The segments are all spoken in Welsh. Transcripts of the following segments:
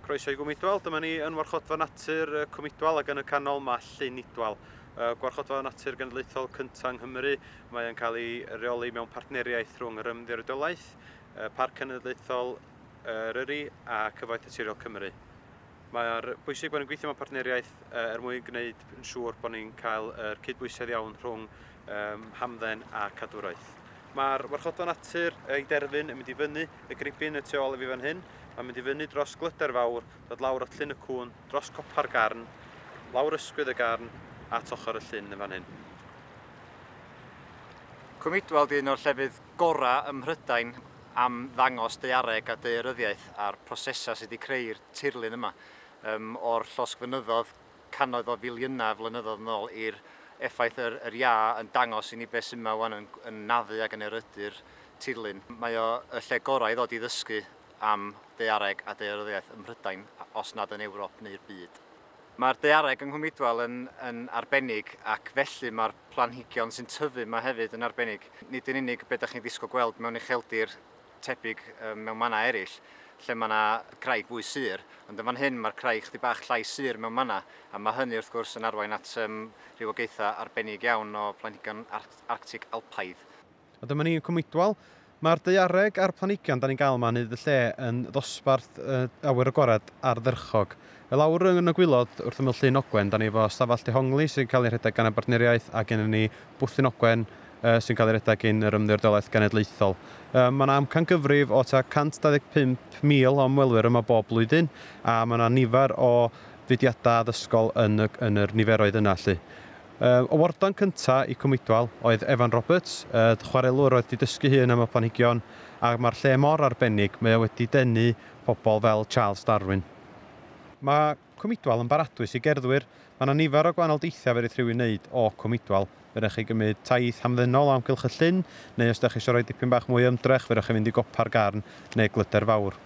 Croeso i Gwm Idwal, dyma ni yn Warchodfa Natur Cwm Idwal ac yn y canol mae Llyn Idwal. Gwarchodfa Natur Genedlaethol cyntaf yng Nghymru, mae yn cael ei reoli mewn partneriaeth rhwng yr Ymddiriedolaeth, Parc Cenedlaethol Eryri a Cyfoeth Naturiol Cymru. Mae'r bwysig bod ni'n gweithio mewn partneriaeth er mwyn gwneud yn siŵr bod ni'n cael yr cydbwysedd iawn rhwng hamdden a cadwraeth. Mae'r warchodfa natur ei derfyn yn mynd i fyny y gribin y tu ôl i fi fan hyn. Mae'n mynd i fyny dros Glyder Fawr, dod lawr at Llyn y Cŵn, dros copa'r Garn, lawr ysgwydd y Garn, at ochr y llyn yn fan hyn. Cwm Idwal 'di un o'r llefydd gorau ym Mhrydain am ddangos daeareg a daearyddiaeth a'r prosesau sydd wedi creu'r tirlun yma, o'r llosgfynyddoedd cannoedd o filiynau o flynyddoedd yn ôl i'r effaith yr, yr iâ yn dangos i ni beth sy'n yma wan yn naddu ac yn erydu'r tirlun. Mae o y lle gorau i ddod i ddysgu am daeareg a daearyddiaeth ym Mhrydain, os nad yn Ewrop neu'r byd. Mae'r daeareg yng Nghwm Idwal yn arbennig ac felly mae'r planhigion sy'n tyfu yma hefyd yn arbennig. Nid yn unig beth ydych chi'n ddisgwyl gweld mewn ucheldir tebyg mewn mannau eraill, lle mae yna craig fwy sur, ond yn fan hyn mae'r craig chdi bach llai sur mewn mannau, a mae hynny wrth gwrs yn arwain at rhywogaethau arbennig iawn o planhigion Arctig Alpaidd. A dyma ni yn Cwm Idwal. Mae'r daeareg a'r planhigion da ni'n gael yma yn hyd y lle yn ddosbarth awyr agored ardderchog. I lawr yn y gwaelod wrth ymyl Llyn Ogwen, da ni efo stafell dehongli sy'n cael ei rhedeg gan y bartneriaeth a gennym ni Bwthyn Ogwen sy'n cael ei redeg gan yr Ymddiriedolaeth Genedlaethol. Mae yna amcan gyfrif o tua 125,000 o ymwelwyr yma bob blwyddyn a mae yna nifer o fudiadau addysgol yn yr niferoedd yna. Lly. Y warden cyntaf i Cwm Idwal oedd Evan Roberts, chwarelwr oedd wedi dysgu hun am y planhigion, a mae'r lle mor arbennig, mae o wedi denu pobl fel Charles Darwin. Mae Cwm Idwal yn baradwys i gerddwyr. Mae yna nifer o gwahanol deithiau fedrith rhywun wneud o Cwm Idwal. Fedrwch chi gymryd taith hamddenol o amgylch y llyn, neu os ydych chi eisiau rhoi dipyn bach mwy o ymdrech, fedrwch chi fynd i gopa'r Garn neu Glyder Fawr.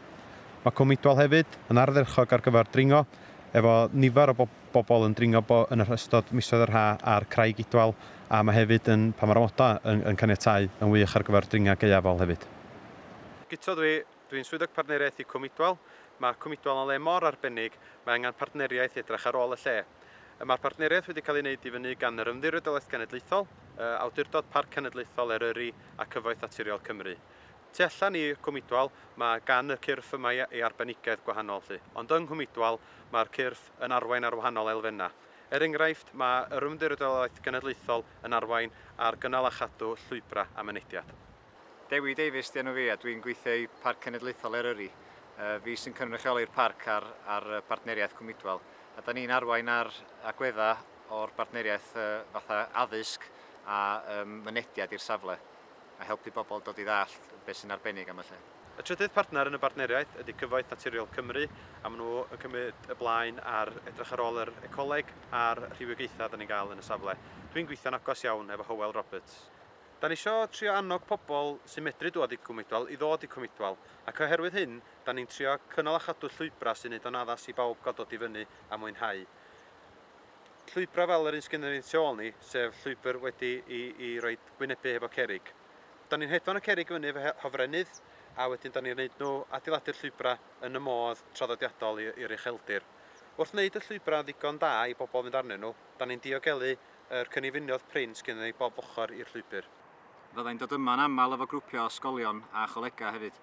Mae Cwm Idwal hefyd yn ardderchog ar gyfer dringo, efo nifer o bobl yn dringo yn yr ystod misoedd yr ha ar Craig Idwal, a mae hefyd yn, pan mae'r amodau yn caniatáu, yn wych ar gyfer dringa gaeafol hefyd. Guto dwi'n swyddog partneriaeth i Cwm Idwal. Mae Cwm Idwal yn le mor arbennig, mae angen partneriaeth i edrych ar ôl y lle. Mae'r partneriaeth wedi cael ei wneud i fyny gan yr Ymddiriedolaeth Genedlaethol, Awdurdod Parc Cenedlaethol Eryri a Cyfoeth Naturiol Cymru. Tu allan i Cwm Idwal, mae gan y cyrff yma ei arbenigedd gwahanol. Lly. Ond yng Nghwm Idwal, mae'r cyrff yn arwain ar wahanol elfennau. Er enghraifft, mae yr Ymddiriedolaeth Genedlaethol yn arwain ar gynnal a chadw llwybrau a mynediad. Dewi Davies di enw fi a dwi'n gweithio i Parc Cenedlaethol Eryri. Fi sy'n cynrychioli'r parc ar partneriaeth Cwm Idwal. A da ni'n arwain ar agweddau o'r bartneriaeth fatha addysg a mynediad i'r safle a helpu bobl dod i ddallt beth sy'n arbennig am y lle. Y trydydd partner yn y bartneriaeth ydy Cyfoeth Naturiol Cymru, a maen nhw yn cymryd y blaen ar edrych ar ôl yr ecoleg a'r rhywogaethau da ni'n gael yn y safle. Dwi'n gweithio'n agos iawn efo Hywel Roberts. Da ni isio trio annog pobl sy'n medru dod i Cwm Idwal i ddod i Cwm Idwal, ac oherwydd hyn, da ni'n trio cynnal a chadw llwybrau sy'n neud o'n addas i bawb gael dod i fyny a mwynhau. Llwybrau fel yr un sgynnon ni tu ôl ni, sef llwybr wedi i roi gwynebu efo cerrig. Da ni'n hedfan y cerrig fyny efo hofrennydd, a wedyn da ni'n gwneud nhw adeiladu'r llwybrau yn y modd traddodiadol i'r ucheldir. Wrth wneud y llwybrau ddigon da i bobl fynd arnyn nhw, da ni'n diogelu yr cynefinoedd prin sgynnon ni bob ochr i'r llwybr. Fyddai'n dod yma'n aml efo grwpiau o ysgolion a cholegau hefyd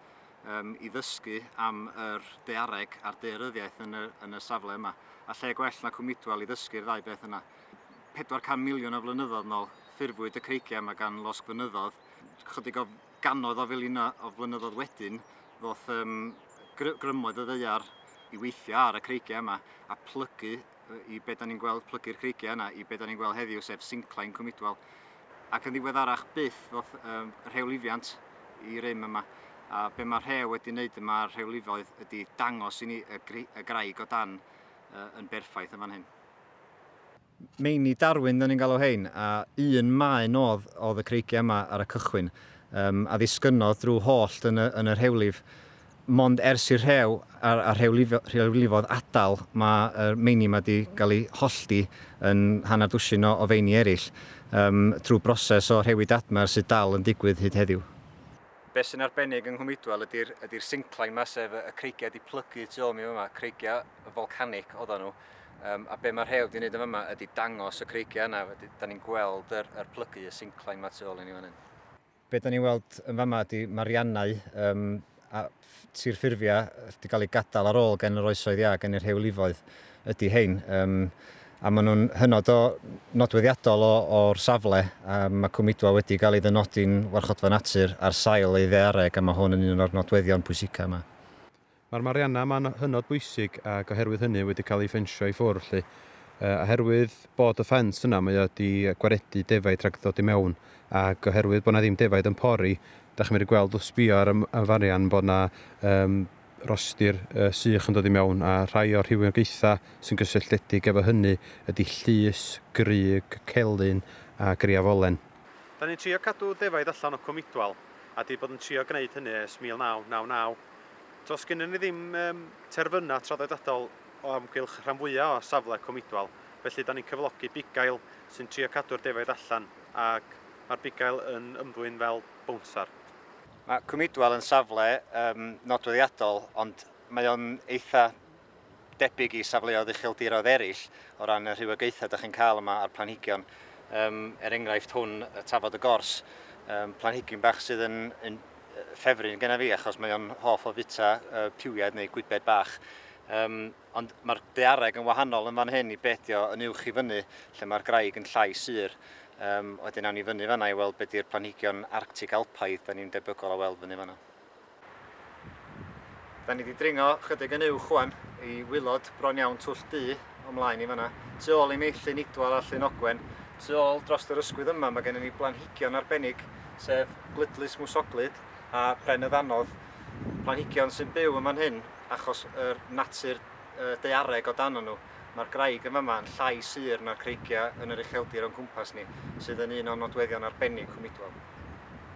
i ddysgu am yr daeareg a'r daearyddiaeth yn y safle yma. A lle gwell na Cwm Idwal i ddysgu'r ddau beth yna. 400 miliwn o flynyddoedd nôl ffurfwyd y creigiau yma gan losgfynyddoedd. Chydig o gannoedd o filiynau o flynyddoedd wedyn ddoth grymoedd y ddaear i weithio ar y creigiau yma a plygu i be da ni'n gweld, plygu'r creigiau yna i be da ni'n gweld heddiw, sef sinclain Cwm Idwal. Ac yn ddiweddarach byth ddoth rhewlifiant i rym yma. A be mae'r rhew wedi wneud yma a'r rhewlifoedd ydy dangos i ni y graig o dan yn berffaith yn fan hyn. Meini Darwin, da ni'n galw hein, a un maen oedd y creigiau yma ar y cychwyn, a ddisgynnodd drwy hollt yn y rhewlif. Mond ers i'r rhew a'r rhewlifodd adael, mae'r meini yma wedi cael ei hollti yn hanner dwsin o feini eraill, trwy broses o rhewi dadmer sydd dal yn digwydd hyd heddiw. Be sy'n arbennig yng Nghwm Idwal ydy'r ydy syncline yma, sef y creigiau wedi plygu tu ôl mi yma, creigiau volcanic oedden nhw. A be mae'r rhew wedi wneud yma ydy dangos y creigiau yna, da ni'n gweld yr plygu, y syncline yma tu ôl i ni fan hyn. Be da ni'n weld yn fama ydy mariannau a tirffurfiau wedi cael ei gadael ar ôl gen yr oesoedd iâ, gen yr rhewlifoedd ydy hein. A maen nhw'n hynod o nodweddiadol o'r safle. A mae Cwm Idwal wedi cael ei ddynodi'n warchodfa natur ar sail ei ddaeareg, a mae hwn yn un o'r nodweddion pwysica yma. Mae'r marianna yma'n hynod bwysig ac oherwydd hynny wedi cael ei ffensio i ffwrdd. Lly. Oherwydd bod y ffens yna, mae o wedi gwaredu defaid rhag ddod i mewn, ac oherwydd bod na ddim defaid yn pori, da chi'n medru gweld wrth sbio ar y farian bod na rostir sych yn dod i mewn, a rhai o'r rhywogaethau sy'n gysylltiedig efo hynny ydy llus, grug, celyn a griafolen. Da ni'n trio cadw defaid allan o Cwm Idwal, a di bod yn trio gwneud hynny ers 1999. Does gennym ni ddim terfynau traddodiadol o amgylch rhan fwyaf o safle Cwm Idwal, felly da ni'n cyflogi bugail sy'n trio cadw'r defaid allan, ac mae'r bugail yn ymddwyn fel bownsar. Mae Cwm Idwal yn safle nodweddiadol, ond mae o'n eitha debyg i safleoedd ucheldiroedd eraill o ran y rhywogaethau da chi'n cael yma a'r planhigion. Er enghraifft hwn, y tafod y gors, planhigyn bach sydd yn ffefryn genna fi achos mae o'n hoff o fita piwiad neu gwybed bach. Ond mae'r daeareg yn wahanol yn fan hyn i bedio yn uwch i fyny, lle mae'r graig yn llai sur. Wedyn awn ni fyny fanna i weld be di'r planhigion Arctic Alpaidd da ni'n debygol o weld fyny fanna. Da ni wedi dringo chydig yn uwch wan i wylod bron iawn Twll Du o mlaen i fanna. Tu ôl i mi Llyn Idwal a Llyn Ogwen. Tu ôl dros yr ysgwydd yma mae gennym ni blanhigion arbennig, sef glydlys mwsoglyd a pren y ddanodd. Planhigion sy'n byw yma'n hyn achos yr natur daeareg o dan nhw. Mae'r graig yn fama yn llai sur na'r creigiau yn yr ucheldir o'n cwmpas ni, sydd yn un o'n nodweddion arbennig Cwm Idwal.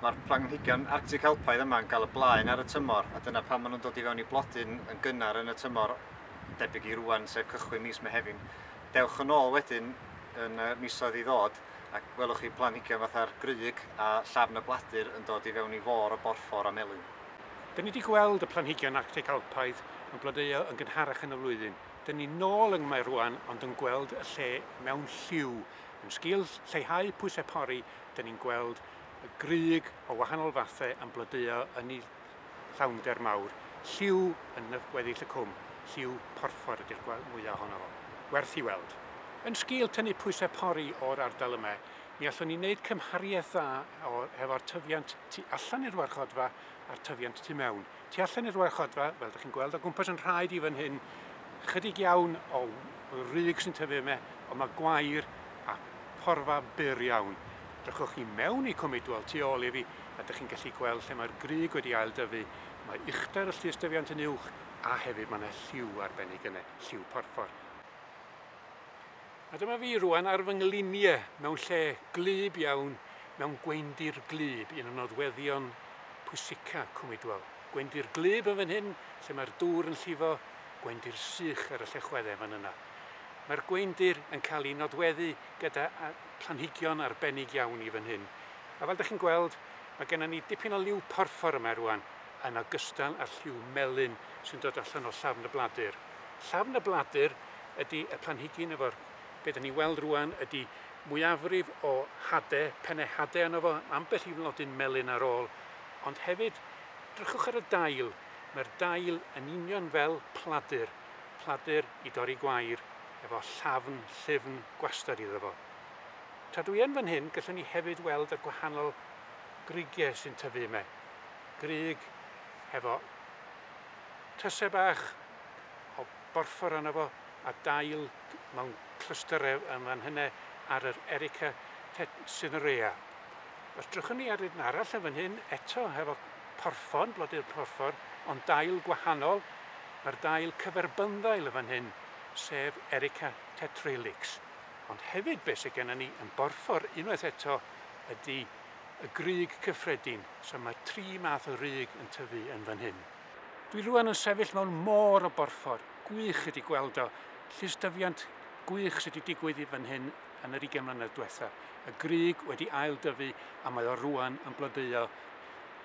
Mae'r planhigion Arctic Alpaidd yma yn cael y blaen ar y tymor, a dyna pam maen nhw'n dod i fewn i blodyn yn gynnar yn y tymor, debyg i rwan, sef cychwyn mis Mehefin. Dewch yn ôl wedyn yn y misoedd i ddod, ac welwch chi planhigion fatha'r grug a llafn y bladur yn dod i fewn i fôr o borffor a melyn. Dyn ni wedi gweld y planhigion Arctic Alpaidd yn blodeuo yn gynharach yn y flwyddyn. Dyn ni nôl yng Nghymru rwan, ond yn gweld y lle mewn lliw. Yn sgil lleihau pwysau pori, dyn ni'n gweld y grug o wahanol fathau yn blodeuo yn ei llawnder mawr. Lliw yn weddill y cwm, lliw porffor ydy'r mwyaf ohono fo. Werth i weld. Yn sgil tynnu pwysau pori o'r ardal yma, mi allwn ni wneud cymhariaeth dda efo'r tyfiant tu allan i'r warchodfa a'r tyfiant tu mewn. Tu allan i'r warchodfa, fel ydych chi'n gweld o gwmpas yn rhaid i fan hyn, chydig iawn o rug sy'n tyfu yma, ond mae gwair a porfa byr iawn. Drychwch chi mewn i Cwm Idwal tu ôl i fi, a ydych chi'n gallu gweld lle mae'r grug wedi aildyfu, mae uchder y llystyfiant yn uwch, a hefyd mae yna lliw arbennig yna, lliw porffor. A dyma fi rwan ar fy ngliniau mewn lle gwlyb iawn, mewn gweundir gwlyb, un o nodweddion pwysica Cwm Idwal. Gweundir gwlyb yn fan hyn, lle mae'r dŵr yn llifo, gweundir sych ar y llechweddau fan yna. Mae'r gweundir yn cael ei nodweddu gyda planhigion arbennig iawn i fan hyn. A fel ydych chi'n gweld, mae gennym ni dipyn o liw porffor yma rwan, yn ogystal â'r lliw melyn sy'n dod allan o llafn y bladur. Llafn y bladur ydy y planhigyn efo'r be dyn ni weld rwan ydy mwyafrif o hadau, pennau hadau yno fo, ambell i flodyn melyn ar ôl, ond hefyd, drychwch ar y dail. Mae'r dail yn union fel pladur, pladur i dorri gwair, efo llafn, llyfn, gwastad iddo fo. Tra dwi yn fan hyn, gallwn ni hefyd weld y gwahanol grugiau sy'n tyfu yma. Grug hefo tysau bach o borffor yno fo, a dail mewn clystyrau yn fan hynny ar yr Erica cinerea. Os drychwn ni ar un arall yn fan hyn, eto hefo porffor, blodau'r porffor, ond dail gwahanol, mae'r dail cyferbynddail yn fan hyn, sef Erica tetralix. Ond hefyd beth sydd gennym ni yn borffor unwaith eto ydy y grug cyffredin. So mae tri math o rug yn tyfu yn fan hyn. Dwi rwan yn sefyll mewn môr o borffor. Gwych ydy gweld o. Llystyfiant gwych sydd wedi digwydd i fan hyn yn yr 20 mlynedd diwetha. Y grug wedi aildyfu a mae o rwan yn blodeuo.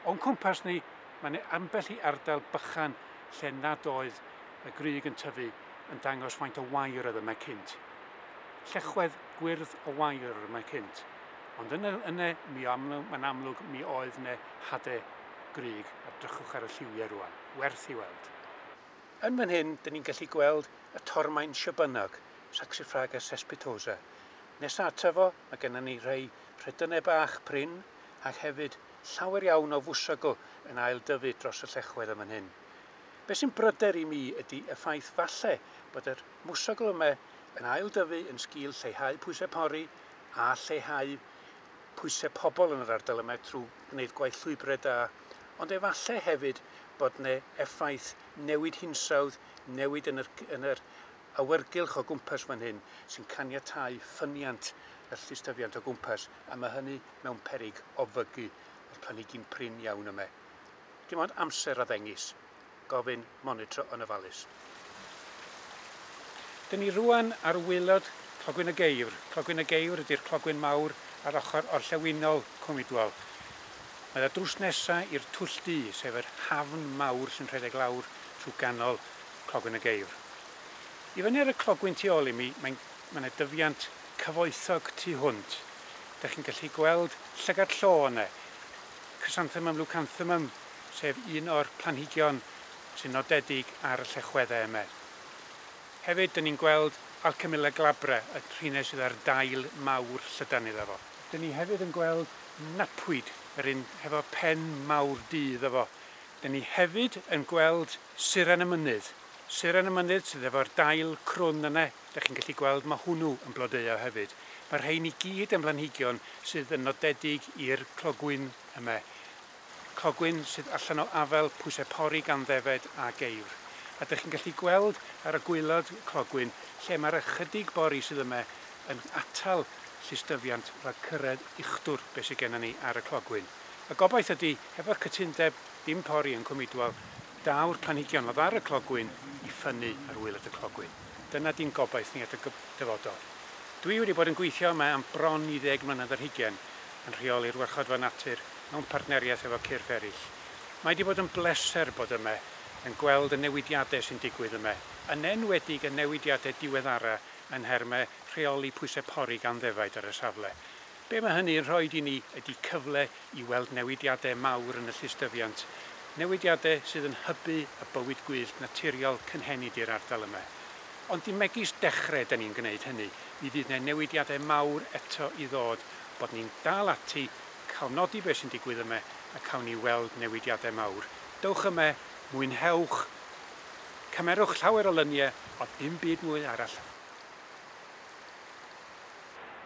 O'n cwmpas ni, mae'n ambell i ardal bychan lle nad oedd y grug yn tyfu yn dangos faint o wair oedd yma cynt. Llechwedd gwyrdd o wair oedd yma cynt. Ond yna, yna mi amlwg, mae'n amlwg mi oedd yna hade grug, a drychwch ar y lliwiau rwan, werth i weld. Yn fan hyn, dyn ni'n gallu gweld y tormaen siabynog, Saxifraga cespitosa. Nesa ato fo, mae gennym ni rhai rhedynau bach prin, ac hefyd llawer iawn o fwsogl yn ail dyfu dros y llechwedd yn fan hyn. Be sy'n bryder i mi ydy y ffaith falle bod yr mwsogl yma yn ail dyfu yn sgil lleihau pwysau pori a lleihau pwysau pobl yn yr ardal yma trwy gwneud gwaith llwybrau da, ond efallai hefyd bod yna effaith newid hinsawdd, newid yn yr, yn yr awyrgylch o gwmpas fan hyn sy'n caniatáu ffyniant y llystyfiant o gwmpas, a mae hynny mewn peryg o fygu y planhigyn prin iawn yma. Dim ond amser a ddengys, gofyn monitro yn ofalus. Dyn ni rwan ar waelod Clogwyn y Geifr. Clogwyn y Geifr ydy'r clogwyn mawr ar ochr orllewinol Cwm Idwal. Mae o drws nesa i'r Twll Du, sef yr hafn mawr sy'n rhedeg lawr trwy ganol Clogwyn y Geifr. I fyny ar y clogwyn tu ôl i mi, mae'n mae yna dyfiant cyfoethog tu hwnt. Dych chi'n gallu gweld llygad llo yna. Chrysanthemum leucanthemum, sef un o'r planhigion sy'n nodedig ar y llechweddau yma. Hefyd, dyn ni'n gweld Alchemilla glabra, y rhine sydd ar dail mawr llydan iddo fo. Dyn ni hefyd yn gweld knapweed, yr un hefo pen mawr du iddo fo. Dyn ni hefyd yn gweld suren y mynydd. Suren y mynydd sydd efo'r dail crwn yna, dych chi'n gallu gweld mae hwnnw yn blodeuo hefyd. Mae'r rhain i gyd yn blanhigion sydd yn nodedig i'r clogwyn yma. Clogwyn sydd allan o afel pwysau pori gan ddefed a geifr. A dych chi'n gallu gweld ar y gwaelod clogwyn lle mae'r ychydig bori sydd yma yn atal llystyfiant rhag cyrraedd uchdwr beth sydd gennym ni ar y clogwyn. Y gobaith ydy, hefo'r cytundeb dim pori yn Cwm Idwal, daw'r planhigion oedd ar y clogwyn i ffynnu ar waelod y clogwyn. Dyna di'n gobaith ni at y dyfodol. Dwi wedi bod yn gweithio yma am bron i 10 mlynedd ar hugain yn rheoli'r warchodfa natur mewn partneriaeth efo cyrff eraill. Mae wedi bod yn bleser bod yma yn gweld y newidiadau sy'n digwydd yma, yn enwedig y newidiadau diweddara yn nhermau rheoli pwysau pori gan ddefaid ar y safle. Be mae hynny'n rhoi i ni ydy cyfle i weld newidiadau mawr yn y llystyfiant, newidiadau sydd yn hybu y bywyd gwyllt naturiol cynhenid i'r ardal yma. Ond dim megis dechrau da ni'n gwneud hynny, mi fydd yna newidiadau mawr eto i ddod, bod ni'n dal ati, cael nodi beth sy'n digwydd yma a cawn ni weld newidiadau mawr. Dewch yma, mwynhewch, cymerwch llawer o luniau, ond dim byd mwy arall.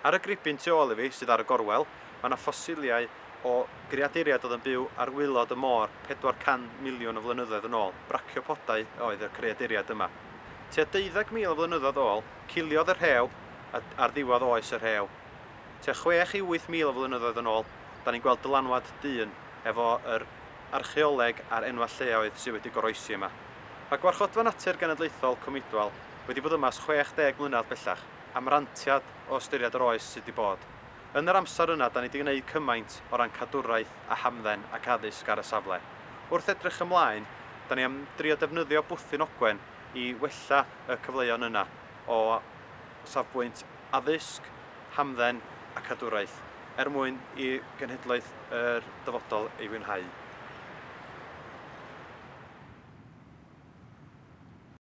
Ar y gribin tu ôl i fi, sydd ar y gorwel, mae yna ffosiliau o greaduriaid oedd yn byw ar waelod y môr 400 miliwn o flynyddoedd yn ôl. Braciopodau oedd y creaduriaid yma. Tua 12,000 o flynyddoedd ôl, ciliodd y rhew ar ddiwedd oes y rhew. Tua 6 i 8,000 o flynyddoedd yn ôl, da ni'n gweld dylanwad dyn efo yr archeoleg a'r enwau lleoedd sydd wedi goroesi yma. Mae Gwarchodfa Natur Genedlaethol Cwm Idwal wedi bod yma ers 60 mlynedd bellach, amrantiad o ystyried yr oes sydd wedi bod. Yn yr amser yna, da ni wedi gwneud cymaint o ran cadwraeth a hamdden ac addysg ar y safle. Wrth edrych ymlaen, da ni am drio defnyddio Bwthyn Ogwen i wella y cyfleon yna o safbwynt addysg, hamdden a cadwraeth, er mwyn i genhedlaeth yr dyfodol ei fwynhau.